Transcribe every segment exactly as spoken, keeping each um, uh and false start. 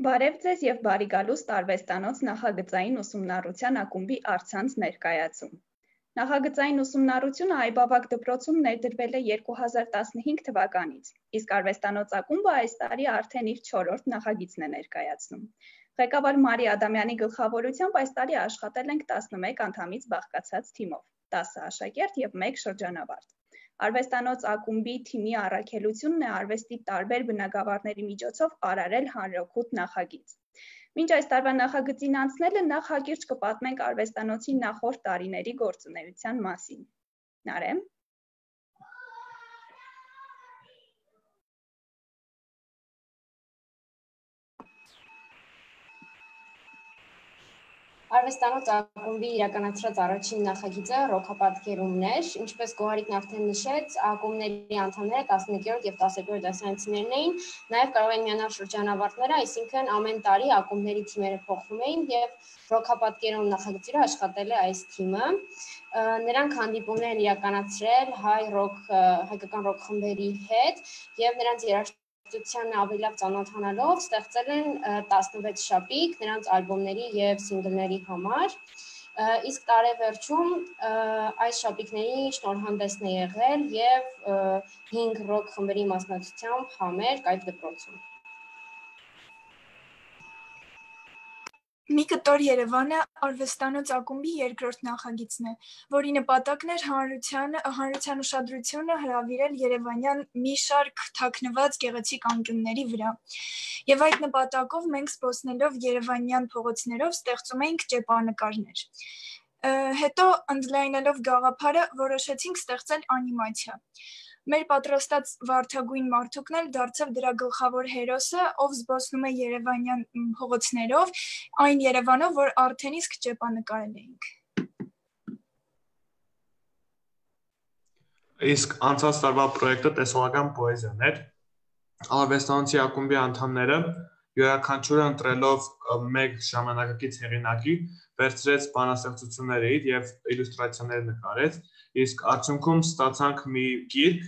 Բարև ձեզ և բարի գալուստ արվեստանոց նախագծային ուսումնառության ակումբի առցանց ներկայացում։ Նախագծային ուսումնառությունը Այբավակ դպրոցում ներդրվել է երկու հազար տասնհինգ թվականից, իսկ արվեստանոց ակումբը այս տարի արդեն իր չորրորդ նախագիծն է ներկայացնում։ Ղեկավար Մարի Ադամյանի գլխավորությամբ այս տարի աշխատել ենք տասնմեկ անդամից բաղկացած թիմով, տասը աշակերտ և մեկ շրջանավարտ։ Արվեստանոց ակումբի թիմի առաքելությունն է արվեստի տարբեր բնագավառների միջոցով արարել հանրօգուտ նախագիծ։ Մինչ այս տարվա նախագծին անցնելը նախ հակիրճ կպատմենք արվեստանոցի նախորդ տարիների գործունեության մասին։ Նարեմ։ Արվեստանոց ակումբի իրականացրած առաջին նախագիծը ռոքապատկերումն էր, ինչպես Գոհարիկն արդեն նշեց, ակումբների անդամները տասնեկերորդ և տասներորդ դասարանցիներն էին, նաև կարող են միանալ շրջանավարտները, այսինքն ամեն տարի ակումբների թիմերը փոխվում էին և ռոքապատկերում նախագծի աշխատել է այս թիմը։ Նրանք հանդիպումներ են իրականացրել հայ ռոք, հայկական ռոք խմբերի հետ և նրանց երաժշտությանն ավելի լավ ծանոթանալով ստեղծել են տասնվեց շապիկ նրանց ալբոմների և սինգլների համար, իսկ տարեվերջում այս շապիկների շնորհանդեսն է եղել և հինգ ռոք խմբերի մասնակցությամբ համերգ այդ դպրոցում։ Մի կտոր Երևանը արվեստանոց ակումբի երկրորդ նախագիծն է, որի նպատակն էր հանրության ուշադրությունը հրավիրել երևանյան մի շարք թաքնված գեղեցիկ անկյունների վրա։ Եվ այդ նպատակով մենք զբոսնելով երևանյան փողոցներով ստեղծում էինք ճեպանկարներ։ Հետո ընդլայնելով գաղափարը որոշեցինք ստեղծել անիմացիա։ Մեր պատրաստած վարդագույն մարդուկն էլ դարձավ դրա գլխավոր հերոսը, ով զբոսնում է երևանյան փողոցներով, այն Երևանով, որ արդեն իսկ ճեպանկարել էինք։ Իսկ անցած տարվա պրոյեկտը տեսողական պոեզիան էր։ Արվեստանոցի ակումբի անդամները յուրաքանչյուրը ընտրելով մեկ ժամանակակից հեղինակի վերցրեց բանաստեղծություններ և իլյուստրացիաներ նկարեց, իսկ արդյունքում ստացանք մի գիրք,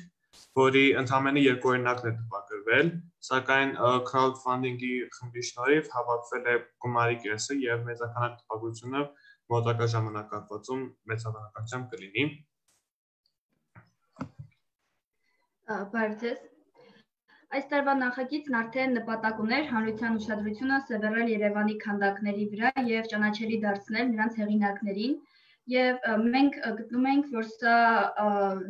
որի ընդամենը երկու օրինակն է տպագրվել, սակայն crowdfunding-ի խմբի շնորհիվ հավաքվել է գումարի կեսը և մեծաքանակ տպագրությունը մոտակա ժամանակահատվածում մեծաբնակությամբ կլինի։ Բարև ձեզ։ Այս տարվա նախագիծն արդեն նպատակ ուներ հանրության ուշադրությունը սևեռել Երևանի քանդակների վրա և ճանաչելի դարձնել նրանց հեղինակներին, և մենք գտնում ենք, որ սա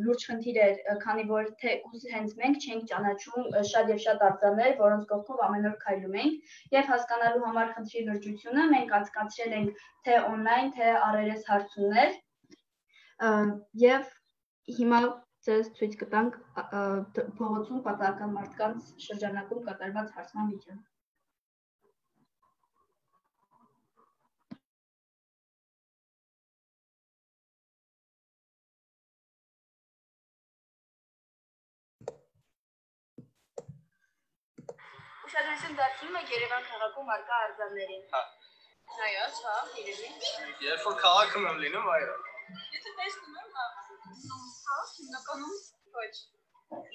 լուրջ խնդիր էր, քանի որ թեկուզ հենց մենք չենք ճանաչում շատ և շատ արձաններ, որոնց կողքով ամեն օր քայլում ենք, և հասկանալու համար խնդրի լրջությունը մենք անցկացրել ենք թե օնլայն, թե առերես հարցումներ, և հիմա ձեզ ցույց կտանք փողոցում պատահական մարդկանց շրջանակում կատարված հարցման վիդեոն։ Ուշադրություն դարձնում եք Երևան քաղաքում առկա արձաններին։ Այո, հա, երևի։ Երբ որ քաղաքում եմ լինում, այո։ Եթե տեսնում եմ, հա, հիմնականում ոչ։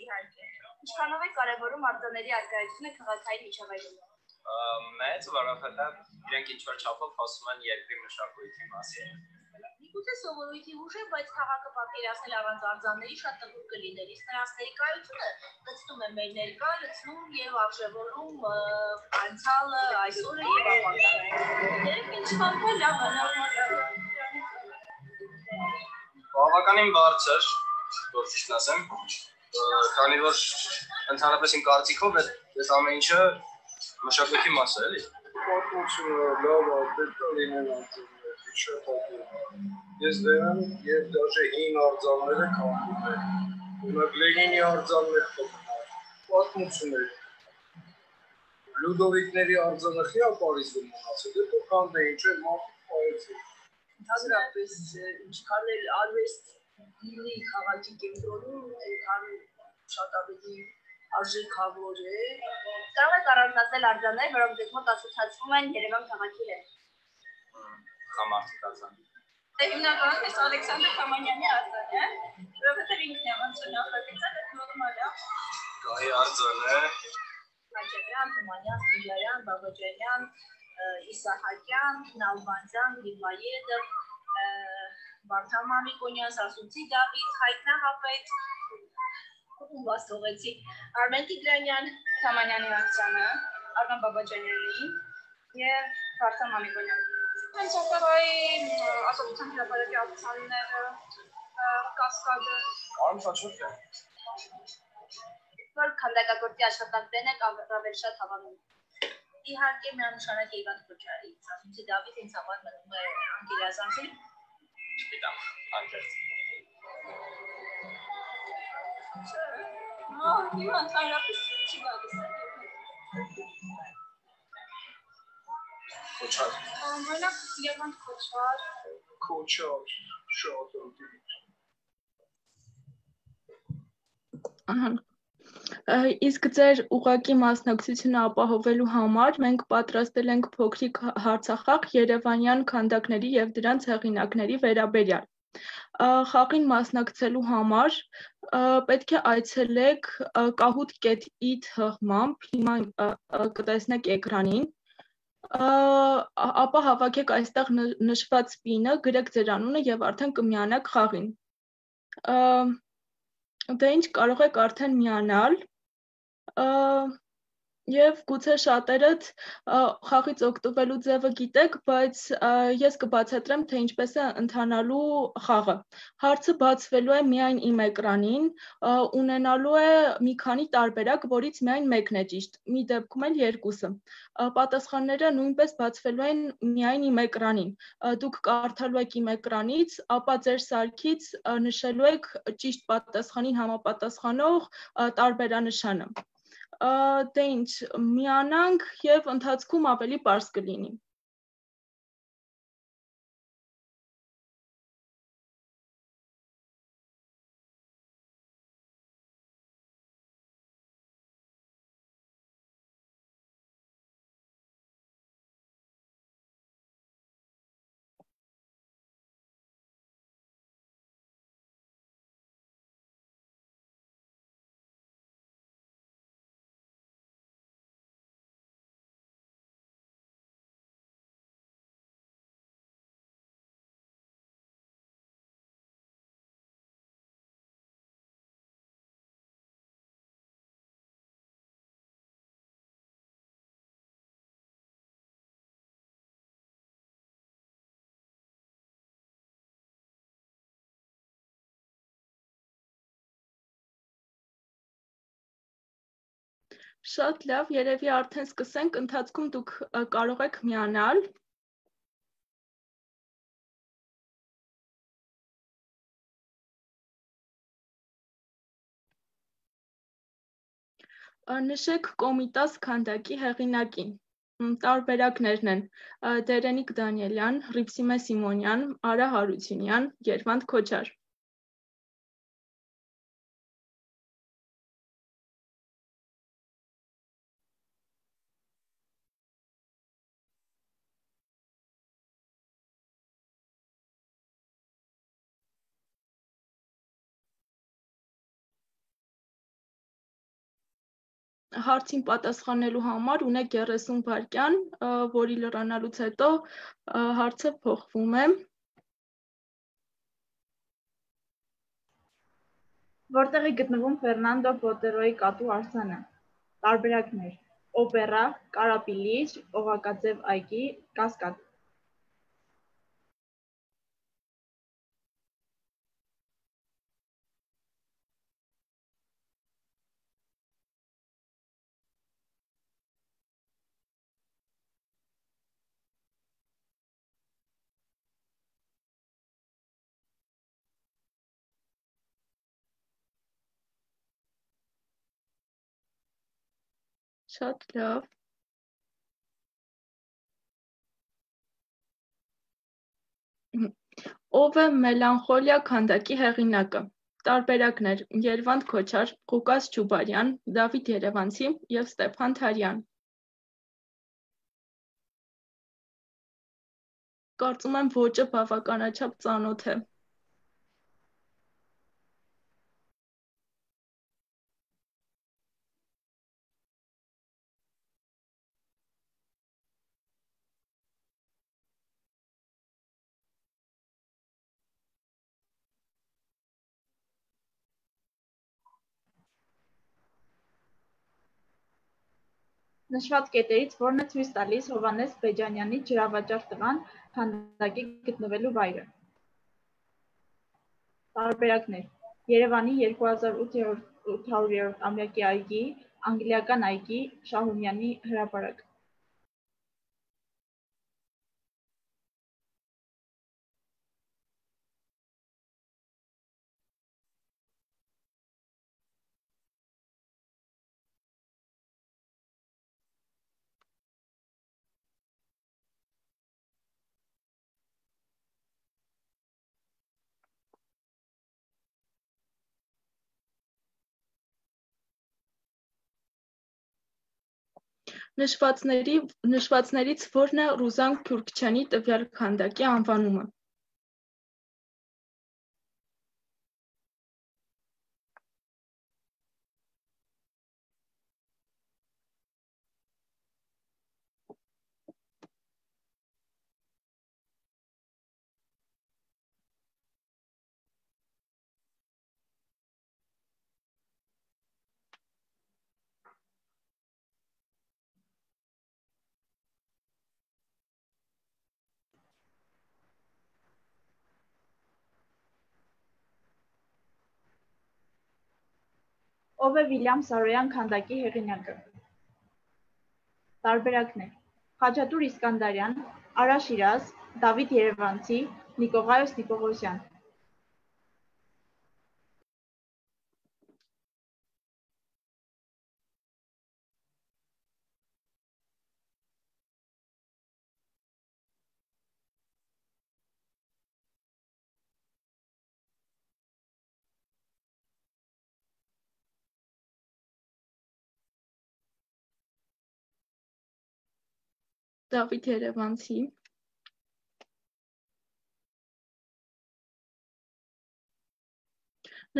Իհարկե։ Ինչքանով է կարևորում արձանների առկայությունը քաղաքային միջավայրում։ Մեծ, որովհետև իրենք ինչ-որ չափով խոսում են երկրի մշակույթի մասին։ Միգուցե սովորույթի ուժ է, բայց քաղաքը պատկերացնել առանց արձանների շատ տխուր կլիներ, իսկ նրանց ներկայությունը լցնում է մեր ներկա, լցնում և արժևորում անցյալը, այսօրը և ապագան։ Երբ ինչ-որ լավ բավականին բարձր, որ ճիշտ ասեմ, քանի որ ընդհանրապես իմ կարծիքով այդ ամեն ինչը մշակույթի մաս է, էլի։ Պատմությունը լավ է, պետք է լինեն արձաններ, շատ հատուկ։ Ես դեռ եւ դաժե հին արձանները քանդում եմ։ Ունակ Լենինի արձաններ կմնար, պատմություններ։ Լյուդովիկների արձանը խի է Պարիզում մնացել, դե քանդեին, չէ՞, մարդիկ պայեցին։ Ընդհանրապես, ինչքան էլ արվեստ լինի քաղաքի կենտրոնում, այնքան շատ ավելի արժեքավոր է։ Կարող եք առանձնացնել արձաններ, որոնք ձեզ մոտ ասոցացվում են Երևան քաղաքի հետ։ Համարտիկ արձան։ Հիմնականում այս Ալեքսանդր Թամանյանի արձանը է, որովհետև ինքն է անց նախագծել այդ նորմալ է։ Գահի արձանը։ Ալեքսանդրյան, Թումանյան, Սիլարյան, Բաբաջանյան, Իսահակյան, Նալբանդյան, Գրիգորյեվ, Վարդան Մամիկոնյան, Սասունցի Դավիթ, Հայտնահապետ, ում վաստողեցի, Արմեն Տիգրանյան, Թամանյանի Աղջանը, Արման Բաբաջանյանի և Վարդան Մամիկոնյան։ Հենց օպերայի ազատության հրապարակի ակցիաները, կասկադը։ Արմ շաչոք է։ Որ քանդակագործի աշխատանքներն եք առավել շատ հավանում։ Իհարկե միանշանակ Իվան Քոչարի, Սասունցի Դավիթ ինձ համար մնում է անկերազանցի։ Չգիտեմ, անկերտ։ Ահ, Իվան թայրապես չի գալիս է։ Քոչար։ Օրինակ Լևոնտ Քոչար։ Քոչար, շատ ընդդիմ։ Ահա։ Իսկ ձեր ուղղակի մասնակցությունը ապահովելու համար մենք պատրաստել ենք փոքրիկ հարցախաղ Երևանյան քանդակների եւ դրանց հեղինակների վերաբերյալ։ Խաղին մասնակցելու համար պետք է այցելեք կահուտ կետ ի թղմամբ, հիմա կտեսնեք էկրանին, ապա հավաքեք այստեղ նշված պինը, գրեք ձեր անունը եւ արդեն կմիանաք խաղին։ Դե ինչ, կարող եք արդեն միանալ և գուցե շատերդ խաղից օգտվելու ձևը գիտեք, բայց ես կբացատրեմ, թե ինչպես է ընթանալու խաղը։ Հարցը բացվելու է միայն իմ էկրանին, ունենալու է մի քանի տարբերակ, որից միայն մեկն է ճիշտ, մի դեպքում էլ երկուսը։ Պատասխանները նույնպես բացվելու են միայն իմ էկրանին։ Դուք կարդալու եք իմ էկրանից, ապա ձեր սարքից նշելու եք ճիշտ պատասխանին համապատասխանող տարբերանշանը։ Դե ինչ, միանանք և ընթացքում ավելի պարզ կլինի։ Շատ լավ, երևի արդեն սկսենք, ընթացքում դուք կարող եք միանալ։ Նշեք Կոմիտաս քանդակի հեղինակին։ Տարբերակներն են Դերենիկ Դանիելյան, Հռիփսիմե Սիմոնյան, Արա Հարությունյան, Երվանդ Քոչար։ Հարցին պատասխանելու համար ունեք երեսուն վայրկյան, որի լրանալուց հետո հարցը փոխվում է։ Որտեղ է գտնվում Ֆերնանդո Բոտերոյի կատու արձանը։ Տարբերակներ՝ օպերա, կարապիլիչ, օղակաձև այգի, կասկադ։ Շատ լավ։ Ով է Մելանխոլիա քանդակի հեղինակը։ Տարբերակներ՝ Երվանդ Քոչար, Ղուկաս Չուբարյան, Դավիթ Երևանցի և Ստեփան Թարյան։ Կարծում եմ ոճը բավականաչափ ծանոթ է։ Նշված կետերից որն է ցույց տալիս Հովհաննես Բեջանյանի ջրավաճառ տղան քանդակի գտնվելու վայրը։ Տարբերակներ. Երևանի երկու հազար ութ հարյուրերորդ ամյակի այգի, անգլիական այգի, Շահումյանի հրապարակ։ Նշվածների, նշվածներից որն է Ռուզան Քյուրքչյանի տվյալ քանդակի անվանումը։ Ով է Վիլյամ Սարոյան քանդակի հեղինակը։ Տարբերակներ. Խաչատուր Իսկանդարյան, Արա Շիրազ, Դավիթ Երևանցի, Նիկողայոս Նիկողոսյան։ Դավիթ Երևանցի։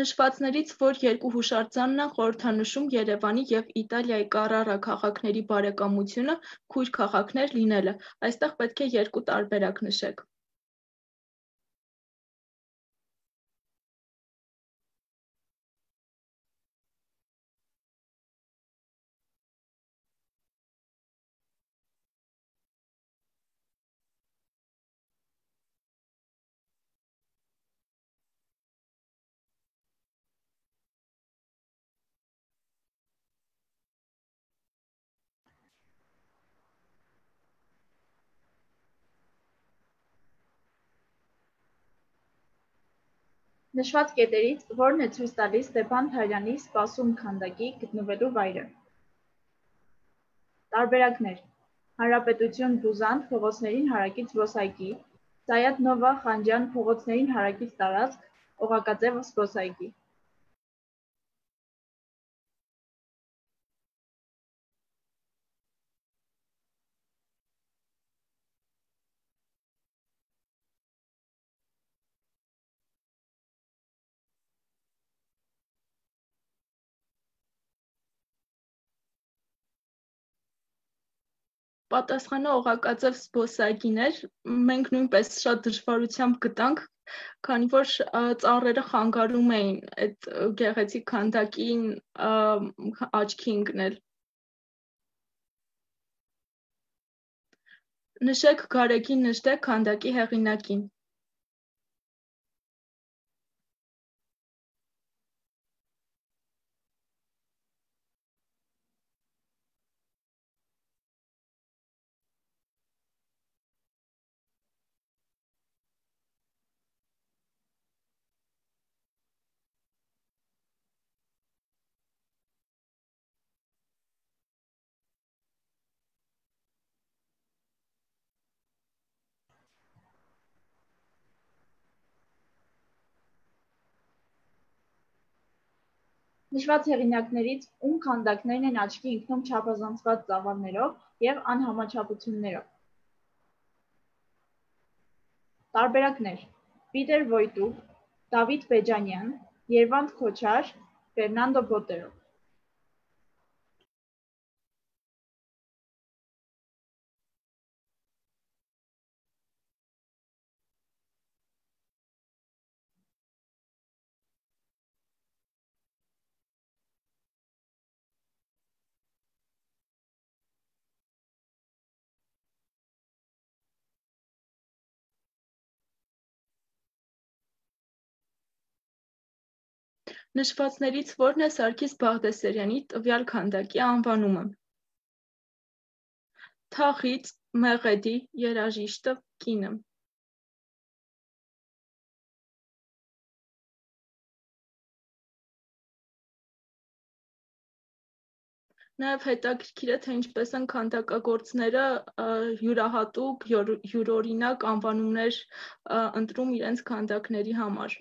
Նշվածներից որ երկու հուշարձանն են խորհրդանշում Երևանի և Իտալիայի Կարարա քաղաքների բարեկամությունը քույր քաղաքներ լինելը, այստեղ պետք է երկու տարբերակ նշեք։ Նշված կետերից որն է ցույց տալիս Ստեփան Թարյանի սպասում քանդակի գտնվելու վայրը։ Տարբերակներ. Հանրապետություն Բուզանդ փողոցներին հարակից զբոսայգի, Սայաթ Նովա Խանջյան փողոցներին հարակից տարածք, Օղակաձև զբոսայգի։ Պատասխանը Օղակաձև զբոսայգին էր, մենք նույնպես շատ դժվարությամբ գտանք, քանի որ ծառերը խանգարում էին այդ գեղեցիկ քանդակին աչքի ընկնել։ Նշեք գարեգին նշտեք քանդակի հեղինակին։ Նշված հեղինակներից ում քանդակներն են աչքի ընկնում չափազանցված ծավալներով և անհամաչափություններով։ Տարբերակներ. Պիտեր Վոյտուկ, Դավիթ Բեջանյան, Երվանդ Քոչար, Ֆերնանդո Բոտերո։ Նշվածներից որն է Սարգիս Բաղդասարյանի տվյալ քանդակի անվանումը։ Թախից, Մեղեդի, երաժիշտը, կինը։ Նաև հետաքրքիր է, թե ինչպես են քանդակագործները յուրահատուկ, յուրօրինակ անվանումներ ընտրում իրենց քանդակների համար։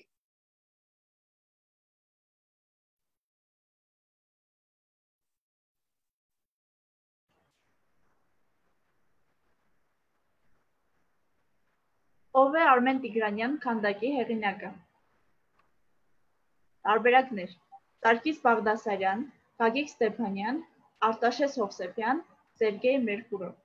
Ով է Արմեն Տիգրանյան քանդակի հեղինակը։ Տարբերակներ. Սարգիս Բաղդասարյան, Գագիկ Ստեփանյան, Արտաշես Հովսեփյան, Սերգեյ Մերկուրով։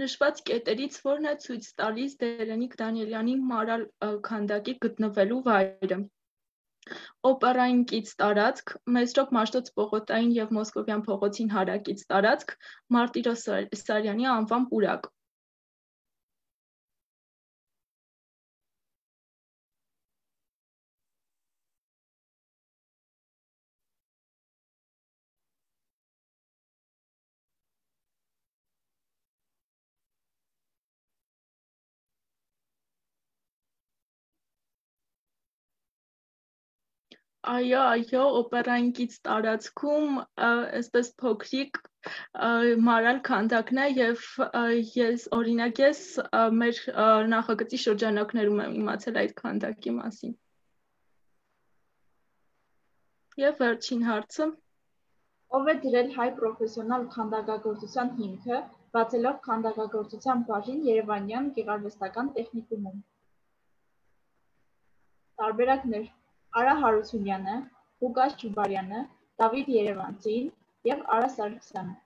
Նշված կետերից որն է ցույց տալիս Դերենիկ Դանիելյանի մարալ քանդակի գտնվելու վայրը։ Օպերային կից տարածք, Մեսրոպ Մաշտոց պողոտային և Մոսկովյան փողոցին հարակից տարածք, Մարտիրոս Սարյանի անվան պուրակ։ Այո, այո, օպերային կից տարածքում այսպես փոքրիկ մարալ քանդակն է և ես օրինակ ես մեր նախագծի շրջանակներում եմ իմացել այդ քանդակի մասին։ Եվ վերջին հարցը։ Ով է դրել հայ պրոֆեսիոնալ քանդակագործության հիմքը, բացելով քանդակագործության բաժին Երևանյան գեղարվեստական տեխնիկումում։ Տարբերակներ. Արա Հարությունյանը, Ղուկաս Չուբարյանը, Դավիթ Երևանցին և Արա Սարգսյանը։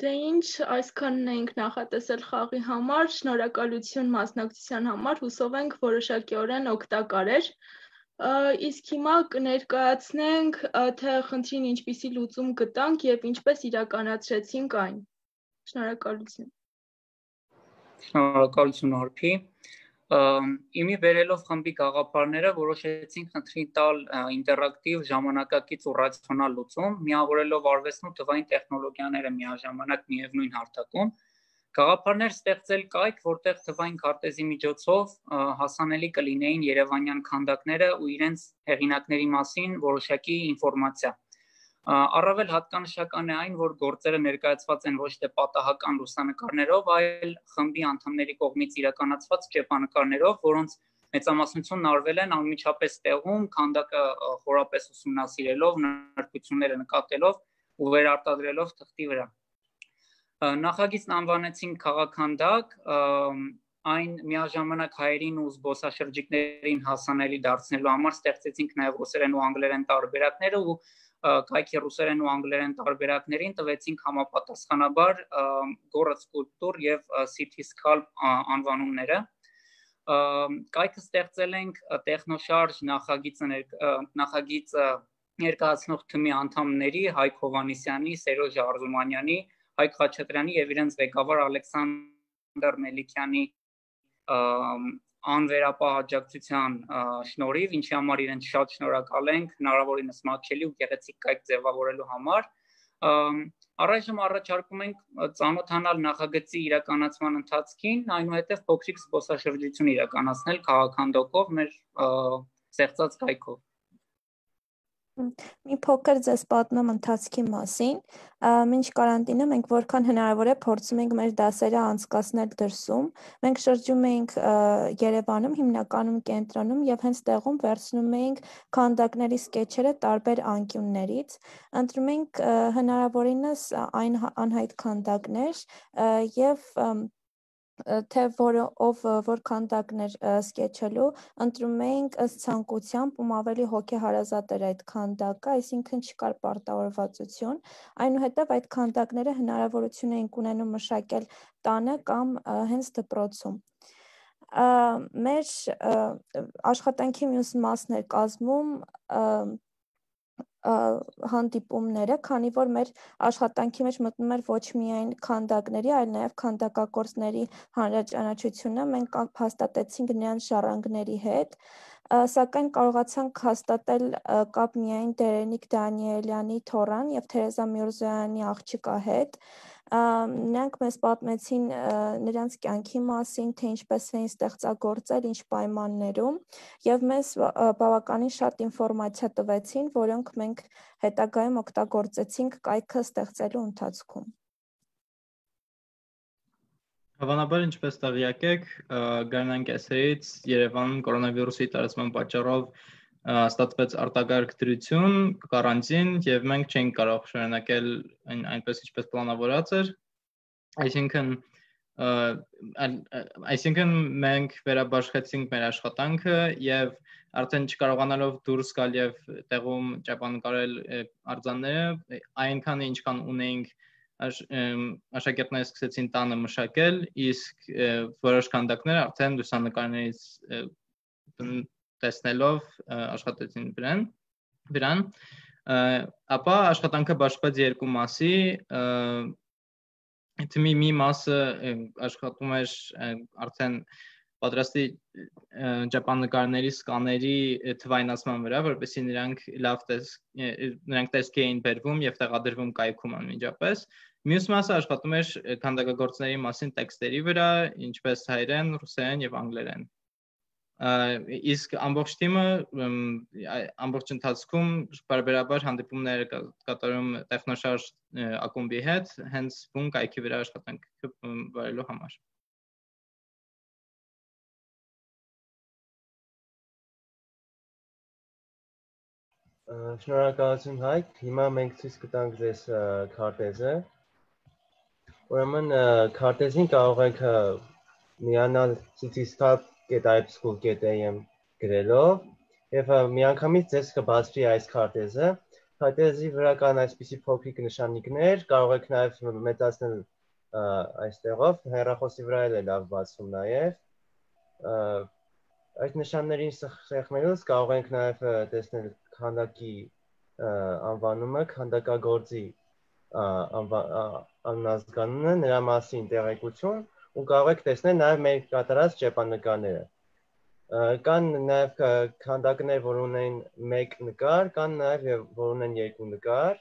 Դե ինչ, այսքանն էինք նախատեսել խաղի համար, շնորհակալություն մասնակցության համար, հուսով ենք որոշակիորեն օգտակար էր։ Իսկ հիմա կներկայացնենք, թե խնդրին ինչպիսի լուծում գտանք և ինչպես իրականացրեցինք այն։ Շնորհակալություն։ Շնորհակալություն Արփի։ Իմի բերելով խմբի գաղափարները որոշեցինք խնդրի տալ ինտերակտիվ, ժամանակակից ու ռացիոնալ լուծում, միավորելով արվեստն ու թվային տեխնոլոգիաները միաժամանակ միևնույն հարթակում, գաղափարներ ստեղծել կայք, որտեղ թվային քարտեզի միջոցով հասանելի կլինեին երևանյան քանդակները ու իրենց հեղինակների մասին որոշակի ինֆորմացիա։ Առավել հատկանշական է այն, որ գործերը ներկայացված են ոչ թե պատահական լուսանկարներով, այլ խմբի անդամների կողմից իրականացված ճեպանկարներով, որոնց մեծամասնությունն արվել են անմիջապես տեղում, քանդակը խորապես ուսումնասիրելով, նրբությունները նկատելով ու վերարտադրելով թղթի վրա։ Նախագիծն անվանեցինք քաղաքքանդակ, այն միաժամանակ հայերին ու զբոսաշրջիկներին հասանելի դարձնելու համար ստեղծեցինք նաև ռուսերեն ու անգլերեն տարբերակները ու կայքի ռուսերեն ու անգլերեն տարբերակներին տվեցինք համապատասխանաբար Գործ սկուլպտուր և City Sculpt անվանումները։ Կայքը ստեղծել ենք տեխնոշարժ նախագիծը ներկայացնող թմի անդամների Հայկ Հովհաննիսյանի, Սերոժ Արզումանյանի, Հայկ Խաչատրյանի և իրենց ղեկավար Ալեքսանդր Մելիքյանի անվերապահ աջակցության շնորհիվ, ինչի համար իրենց շատ շնորհակալ ենք հնարավորինս մատչելի ու գեղեցիկ կայք ձևավորելու համար։ Առայժմ առաջարկում ենք ծանոթանալ նախագծի իրականացման ընթացքին, այնուհետև փոքրիկ զբոսաշրջություն իրականացնել քաղաքքանդակով մեր ստեղծած կայքով։ Մի փոքր ձեզ պատմեմ ընթացքի մասին։ Մինչ կարանտինը մենք որքան հնարավոր է փորձում ենք մեր դասերը անցկացնել դրսում։ Մենք շրջում էինք Երևանում, հիմնականում կենտրոնում եւ հենց տեղում վերցնում էինք քանդակների սկեչերը տարբեր անկյուններից։ Ընտրում էինք հնարավորինս այն անհայտ քանդակներ եւ թե ով որ քանդակներ սկեչելու, ընտրում էինք ըստ ցանկությամբ, ում ավելի հոգեհարազատ էր այդ քանդակը, այսինքն չկար պարտավորվածություն, այնուհետև այդ քանդակները հնարավորություն էինք ունենում մշակել տանը կամ հենց դպրոցում։ Մեր աշխատանքի մյուս մասն էր կազմում հանդիպումները, քանի որ մեր աշխատանքի մեջ մտնում էր ոչ միայն քանդակների, այլ նաև քանդակագործների հանրաճանաչությունը, մենք հաստատեցինք նրանց ժառանգների հետ, սակայն կարողացանք հաստատել կապ միայն Դերենիկ Դանիելյանի թոռան եւ Թերեզա Միրզոյանի աղջկա հետ։ Նրանք մեզ պատմեցին նրանց կյանքի մասին, թե ինչպես էին ստեղծագործել, ինչ պայմաններում, եւ մեզ բավականին շատ ինֆորմացիա տվեցին, որոնք մենք հետագայում օգտագործեցինք կայքը ստեղծելու ընթացքում։ Հավանաբար, ինչպես տեղյակ եք, գարնան կեսերից Երևանում կորոնավիրուսի տարածման պատճառով ստացվեց արտակարգ դրություն, կարանտին, եւ մենք չենք կարող շարունակել այնպես ինչպես պլանավորած էր, այսինքն այսինքն մենք վերաբաշխեցինք մեր աշխատանքը եւ արդեն չկարողանալով դուրս գալ եւ տեղում ճապանկարել արձանները, այնքան ինչքան ունեինք աշակերտները սկսեցին տանը մշակել, իսկ որոշ քանդակներ արդեն լուսանկարներից տեսնելով աշխատեցին վրան, վրան, ապա աշխատանքը բաժանվեց երկու մասի, թիմի մի մասը աշխատում էր արդեն պատրաստի ճապանկարների սկաների թվայնացման վրա, որպեսզի նրանք լավ նրանք տեսքի էին բերվում եւ տեղադրվում կայքում անմիջապես։ Մյուս մասը աշխատում էր քանդակագործների մասին տեքստերի վրա, ինչպես հայերեն, ռուսերեն եւ անգլերեն։ Իսկ ամբողջ թիմը ամբողջ ընթացքում բարբերաբար հանդիպումներ կատարում տեխնոշարժ ակումբի հետ, հենց բուն կայքի վրա աշխատանքը վարելու համար։ Շնորհակալություն Հայկ, հիմա մենք ցույց կտանք ձեզ քարտեզը։ Ուրեմն քարտեզին կարող եք միանալ citystab dot i p school dot a m գրելով եւ միանգամից ձեզ կբացվի այս քարտեզը։ Քարտեզի վրա կան այսպիսի փոքրիկ նշանիկներ, կարող եք նաեւ մեծացնել այստեղով, հեռախոսի վրա էլ է լավ բացվում նաեւ։ Այդ նշաններին սեղմելուց կարող ենք նաեւ տեսնել քանդակի անվանումը, քանդակագործի անազգանունը, նրա մասին տեղեկություն ու կարող եք տեսնել նաև մեր կատարած ճեպանկարները։ Կան նաև քանդակներ, որ ունեն մեկ նկար, կան նաև որ ունեն երկու նկար։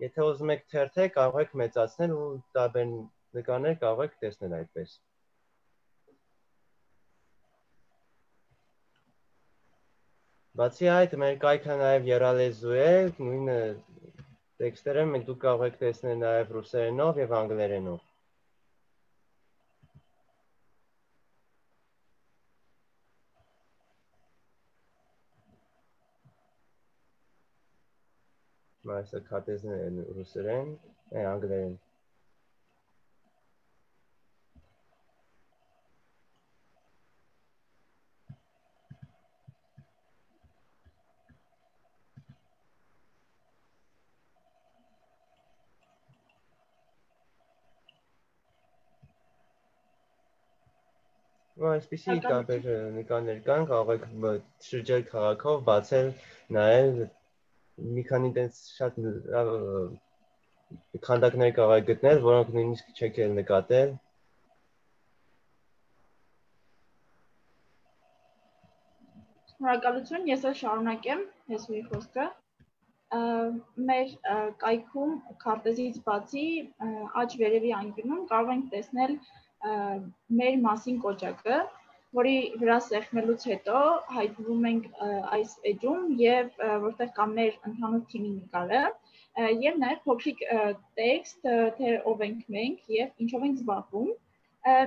Եթե ուզում եք թերթել, կարող եք մեծացնել ու տարբեր նկարներ կարող եք տեսնել այդպես։ Բացի այդ, մեր կայքը նաև եռալեզու է, նույնը տեքստերը մենք դուք կարող եք տեսնել նաև ռուսերենով եւ անգլերենով։ Այսը քարտեզն է ռուսերեն, անգլերեն։ Այսպիսի տարբեր նկարներ կան, կարող եք շրջել քաղաքով, բացել, նայել, մի քանի տես շատ քանդակներ կարող եք գտնել, որոնք նույնիսկ չեք էլ նկատել։ Շնորհակալություն, ես էլ շարունակեմ հեսուի խոսքը։ Մեր կայքում քարտեզից բացի աջ վերևի անկյունում կարող ենք տեսնել մեր մասին կոճակը, որի վրա սեղմելուց հետո հայտնվում ենք այս էջում եւ որտեղ կա մեր ընդհանուր թիմի նկարը եւ նաեւ փոքրիկ տեքստ, թե ով ենք մենք եւ ինչով ենք զբաղվում։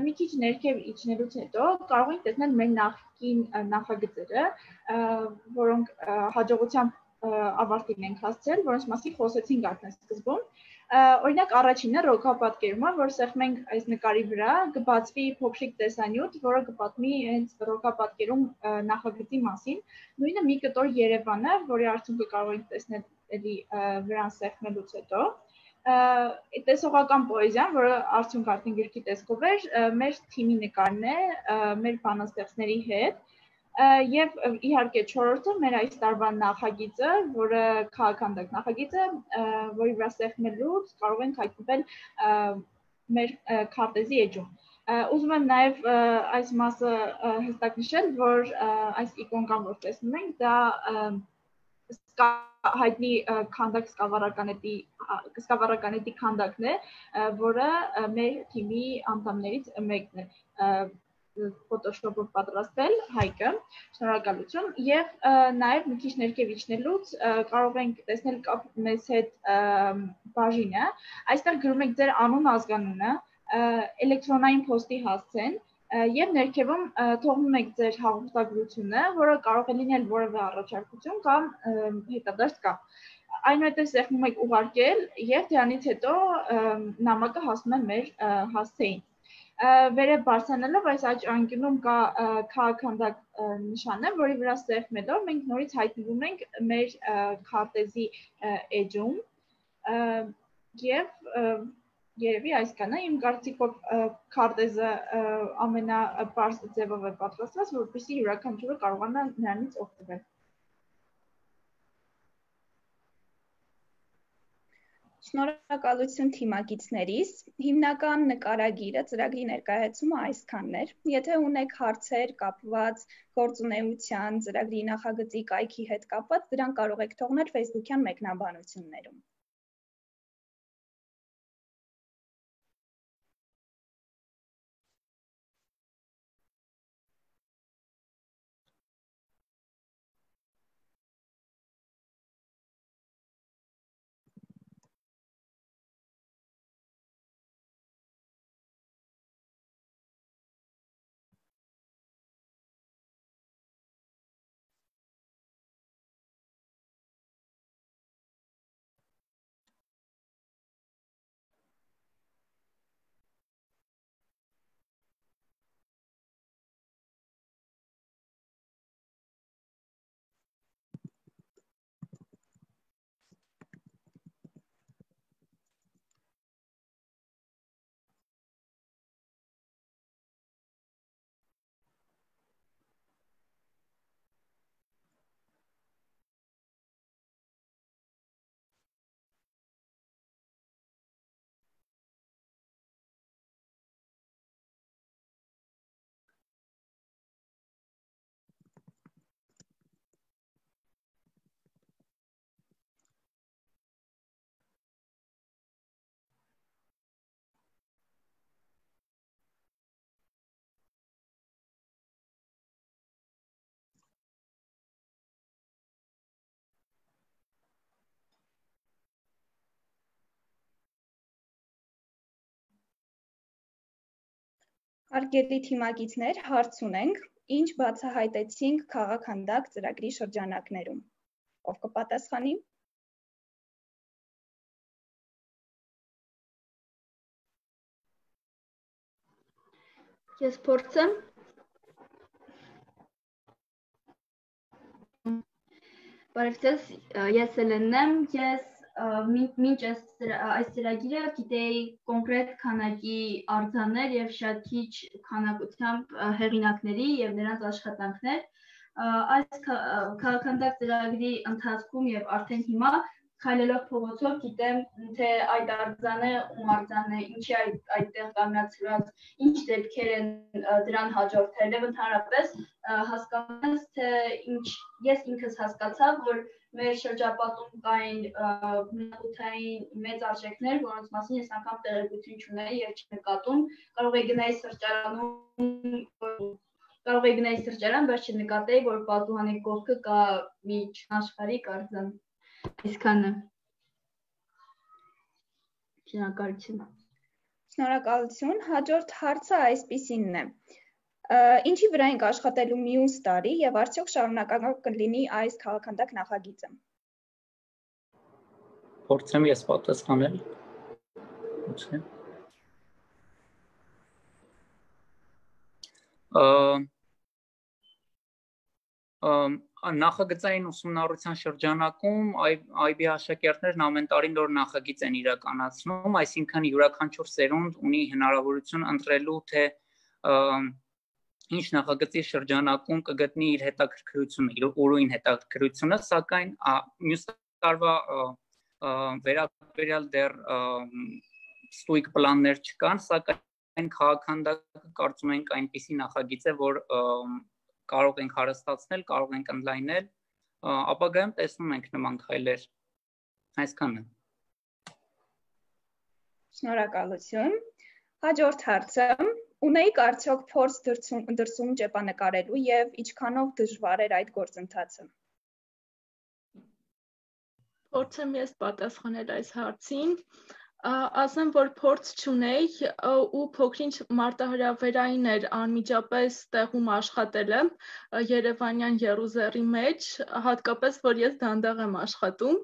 Մի քիչ ներքև իջնելուց հետո կարող ենք տեսնել մեր նախկին նախագծերը, որոնք հաջողությամբ ավարտին ենք հասցրել, որոնց մասին խոսեցինք արդեն սկզբում։ Օրինակ առաջինը ռոքապատկերումը, որ սեղմենք այս նկարի վրա, կբացվի փոքրիկ տեսանյութ, որը կպատմի հենց ռոքապատկերում նախագծի մասին։ Նույնը մի կտոր Երևանը, որի արդյունքը կարող ենք տեսնել էլի վրան սեղմելուց հետո։ Տեսողական պոեզիան, որը արդյունք արդեն գրքի տեսքով էր, մեր թիմի նկարն է, մեր բանաստեղծների հետ։ Եվ իհարկե չորրորդը մեր այս տարվա նախագիծը, որը քաղաքանդակ նախագիծը, որի վրա սեղմելուց կարող ենք հայտնվել մեր քարտեզի էջում։ Ուզում եմ նաև այս մասը հստակ նշել, որ այս իկոնկան, որ տեսնում ենք, դա հայտնի քանդակ սկավառականետի քանդակն է, որը մեր թիմի անդամներից մեկն է Photoshop-ով պատրաստել, Հայկը, շնորհակալություն, եւ նաեւ մի քիչ ներքև իջնելուց կարող ենք տեսնել կապ մեզ հետ բաժինը, այստեղ գրում եք ձեր անուն, ազգանունը, էլեկտրոնային փոստի հասցեն եւ ներքևում թողնում եք ձեր հաղորդագրությունը, որը կարող է լինել որևէ առաջարկություն կամ հետադարձ կապ։ Այնուհետև սեղմում եք ուղարկել եւ դրանից հետո նամակը հասնում է մեր հասցեին։ Վերև բարձրանալով այս աջ անկյունում կա քաղաքանդակ նշանը, որի վրա սեղմելով մենք նորից հայտնվում ենք մեր քարտեզի էջում եւ երևի այսքանը, իմ կարծիքով քարտեզը ամենապարզ ձևով է պատրաստված, որպեսզի յուրաքանչյուրը կարողանա նրանից օգտվել։ Շնորհակալություն թիմակիցներիս, հիմնական նկարագիրը, ծրագրի ներկայացումը այսքանն էր։ Եթե ունեք հարցեր կապված գործունեության, ծրագրի նախագծի կայքի հետ կապված, դրանք կարող եք թողնել Facebook-յան մեկնաբանություններում։ Հարգելի թիմակիցներ, հարց ունենք, ինչ բացահայտեցինք քաղաքանդակ ծրագրի շրջանակներում։ Ով կպատասխանի։ Ես փորձեմ։ Բարև ձեզ, ես Էլենն եմ, ես մինչ այս ծրագիրը գիտեի կոնկրետ քանակի արձաններ եւ շատ քիչ քանակությամբ հեղինակների եւ նրանց աշխատանքներ։ Այս քաղաքանդակ ծրագրի ընթացքում եւ արդեն հիմա քայլելով փողոցով գիտեմ, թե այդ արձանը ում արձանն է, ինչի այդտեղ կանգնացրած, ինչ դեպքեր են դրան հաջորդել եւ ընդհանրապես հասկանում ես, թե ինչ ես ինքս հասկացա, որ մեր շրջապատում կային մշակութային մեծ արժեքներ, որոնց մասին ես անգամ տեղեկություն չունեի եւ չնկատում, կարող էի գնայի սրճարանում կարող եք գնալ սրճարան, բայց չնկատեի, որ պատուհանի կողքը կա մի աշխարհիկ արձան։ Այսքանը։ Շնորհակալություն։ Շնորհակալություն։ Հաջորդ հարցը այսպիսինն է. Ինչի վրա ենք աշխատելու մյուս տարի եւ արդյոք շարունակական կլինի այս քաղաքանդակ նախագիծը։ Փորձեմ ես պատասխանել։ Նախագծային ուսումնառության շրջանակում այ բի աշակերտներն ամեն տարի նոր նախագիծ են իրականացնում, այսինքն յուրաքանչյուր սերունդ ունի հնարավորություն ընտրելու, թե ինչ նախագծի շրջանակում կգտնի իր հետաքրքրությունը, իր ուրույն հետաքրքրությունը, սակայն մյուս տարվա վերաբերյալ դեռ ստույգ պլաններ չկան, սակայն քաղաքանդակը կարծում ենք այնպիսի նախագիծ է, որ կարող ենք հարստացնել, կարող ենք ընդլայնել, ապագայում տեսնում ենք նման քայլեր։ Այսքանը։ Շնորհակալություն։ Հաջորդ հարցը. ունեիք արդյոք փորձ դրսում ճեպանկարելու եւ ինչքանով դժվար էր այդ գործընթացը։ Փորձեմ ես պատասխանել այս հարցին։ Ասեմ, որ փորձ չունեի ու փոքրինչ մարտահրավերային էր անմիջապես տեղում աշխատելը Երևանյան Եռուզեռի մեջ, հատկապես որ ես դանդաղ եմ աշխատում,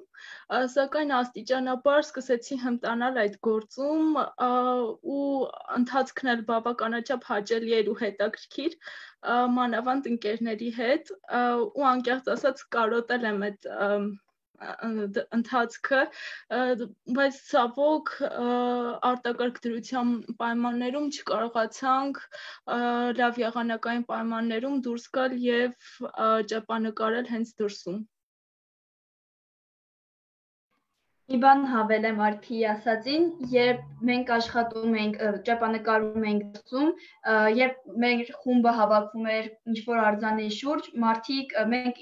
սակայն աստիճանաբար սկսեցի հմտանալ այդ գործում ու ընթացքն էլ բավականաչափ հաճելի էր ու հետաքրքիր, մանավանդ ընկերների հետ ու անկեղծ ասած կարոտել եմ այդ ընթացքը, բայց ցավոք արտակարգ դրության պայմաններում չկարողացանք լավ եղանակային պայմաններում դուրս գալ եւ ճեպանկարել հենց դրսում։ Մի բան հավելեմ Արփիի ասածին, երբ մենք աշխատում ենք, ճեպանկարում ենք դրսում, երբ մեր խումբը հավաքվում էր ինչ-որ արձանի շուրջ, մարդիկ մենք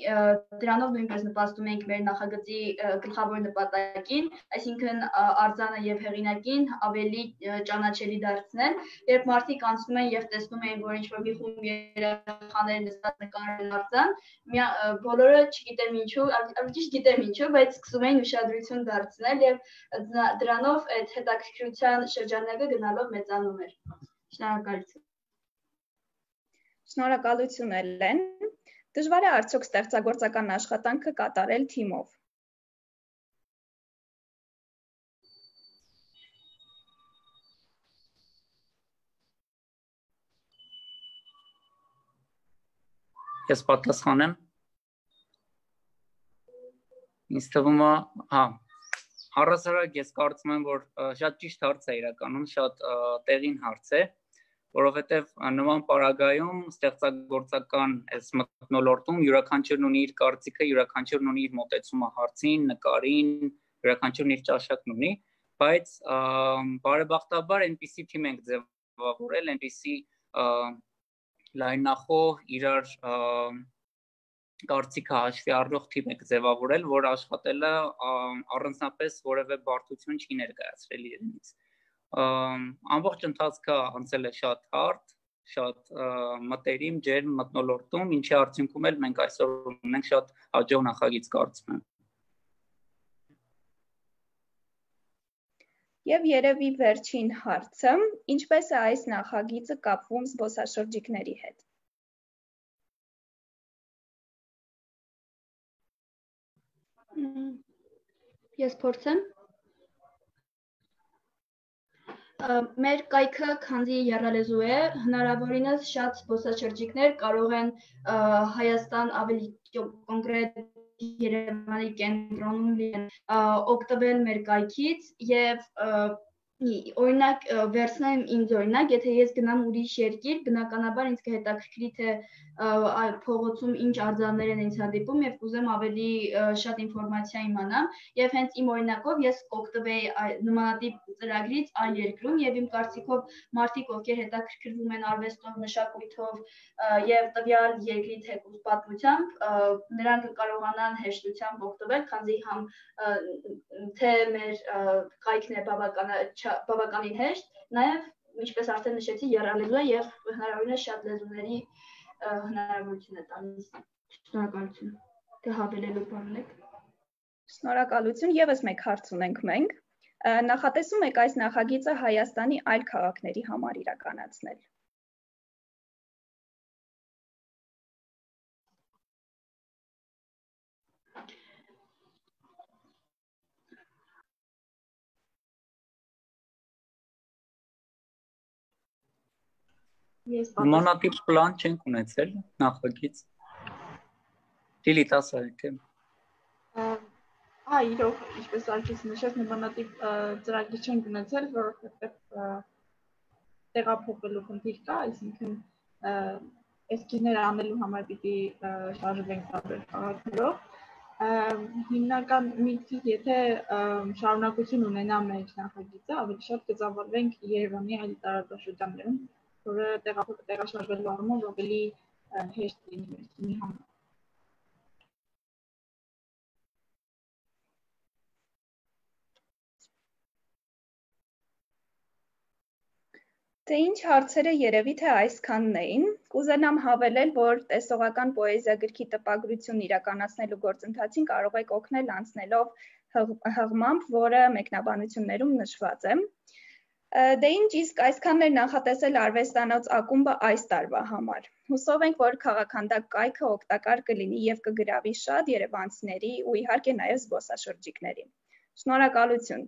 դրանով նույնպես նպաստում ենք մեր նախագծի գլխավոր նպատակին, այսինքն արձանը եւ հեղինակին ավելի ճանաչելի դարձնել, երբ մարդիկ անցնում են եւ տեսնում են, որ ինչ-որ մի խումբ երեխաներ նստած նկարել արձան, բոլորը չգիտեմ ինչու, ճիշտ գիտեմ ինչու, բայց սկսում են ուշադրություն դարձնել եւ դրանով այդ հետաքրքրության շրջանակը գնալով մեծանում էր։ Շնորհակալություն։ Շնորհակալություն Էլեն։ Դժվար է արդյոք ստեղծագործական աշխատանքը կատարել թիմով։ Ես պատասխանեմ։ Ինձ թվում է, հա, առհասարակ ես կարծում եմ, որ շատ ճիշտ հարց է իրականում, շատ տեղին հարց է, որովհետև նման պարագայում ստեղծագործական այս մթնոլորտում յուրաքանչյուրն ունի իր կարծիքը, յուրաքանչյուրն ունի իր մոտեցումը հարցին, նկարին, յուրաքանչյուրն իր ճաշակն ունի, բայց բարեբախտաբար այնպիսի թիմ ենք ձևավորել, այնպիսի լայնախոհ իրար կարծիքը հաշվի առնող թիմ եք ձևավորել, որ աշխատելը առանձնապես որևէ բարդություն չի ներկայացրել իրենից։ Ամբողջ ընթացքը անցել է շատ հարթ, շատ մտերիմ, ջերմ մթնոլորտում, ինչի արդյունքում էլ մենք այսօր ունենք շատ հաջող նախագիծ կարծում եմ։ Եվ երևի վերջին հարցը, ինչպես է այս նախագիծը կապվում զբոսաշրջիկների հետ։ Ես փորձեմ։ Մեր կայքը քանզի եռալեզու է, հնարավորինս շատ զբոսաշրջիկներ կարող են Հայաստան ավելի կոնկրետ Երևանի կենտրոնում լինեն օգտվել մեր կայքից եւ օրինակ վերցնեմ ինձ օրինակ, եթե ես գնամ ուրիշ երկիր, բնականաբար ինձ կհետաքրքրի թե փողոցում ինչ արձաններ են ինձ հանդիպում եւ կուզեմ ավելի շատ ինֆորմացիա իմանամ եւ հենց իմ օրինակով ես կօգտվեի նմանատիպ ծրագրից այլ երկրում եւ իմ կարծիքով մարդիկ ովքեր հետաքրքրվում են արվեստով, մշակույթով եւ տվյալ երկրի թեկուզ պատմությամբ, նրանք կարողանան հեշտությամբ օգտվել, քանզի համ թե մեր կայքն է բավականին հեշտ, նաեւ ինչպես արդեն նշեցի, եռալեզու է եւ հնարավորինս շատ լեզուների հնարավորություն է տալիս։ Շնորհակալություն։ Թե հավելելու բան ունեք։ Շնորհակալություն, եւս մեկ հարց ունենք մենք։ Նախատեսում եք այս նախագիծը Հայաստանի այլ քաղաքների համար իրականացնել։ Նմանատիպ պլան չենք ունեցել նախագիծ։ Լիլիթ ասա թե։ Հա, իրոք, ինչպես Ալքիս նշեց, նմանատիպ ծրագիր չենք ունեցել, որովհետև տեղափոխելու խնդիր կա, այսինքն էսքիզներ անելու համար պիտի շարժվենք տարբեր քաղաքներով։ Հիմնական միտքից, եթե շարունակություն ունենա մեր նախագիծը, ավելի շատ կծավալվենք Երևանի այլ տարածաշրջաններում, որը տեղաշարժվելու առումով ավելի հեշտ լինի մեր թիմի համար։ Թե ինչ հարցերը երևի թե այսքանն էին, կուզենամ հավելել, որ տեսողական պոեզիա գրքի տպագրություն իրականացնելու գործընթացին կարող եք օգնել անցնելով հղմամբ, որը մեկնաբանություններում նշված է։ Դե ինչ իսկ այսքանն էր նախատեսել արվեստանոց ակումբը այս տարվա համար։ Հուսով ենք, որ քաղաքանդակ կայքը օգտակար կլինի եւ կգրավի շատ երևանցիների ու իհարկե նաեւ զբոսաշրջիկների։ Շնորհակալություն։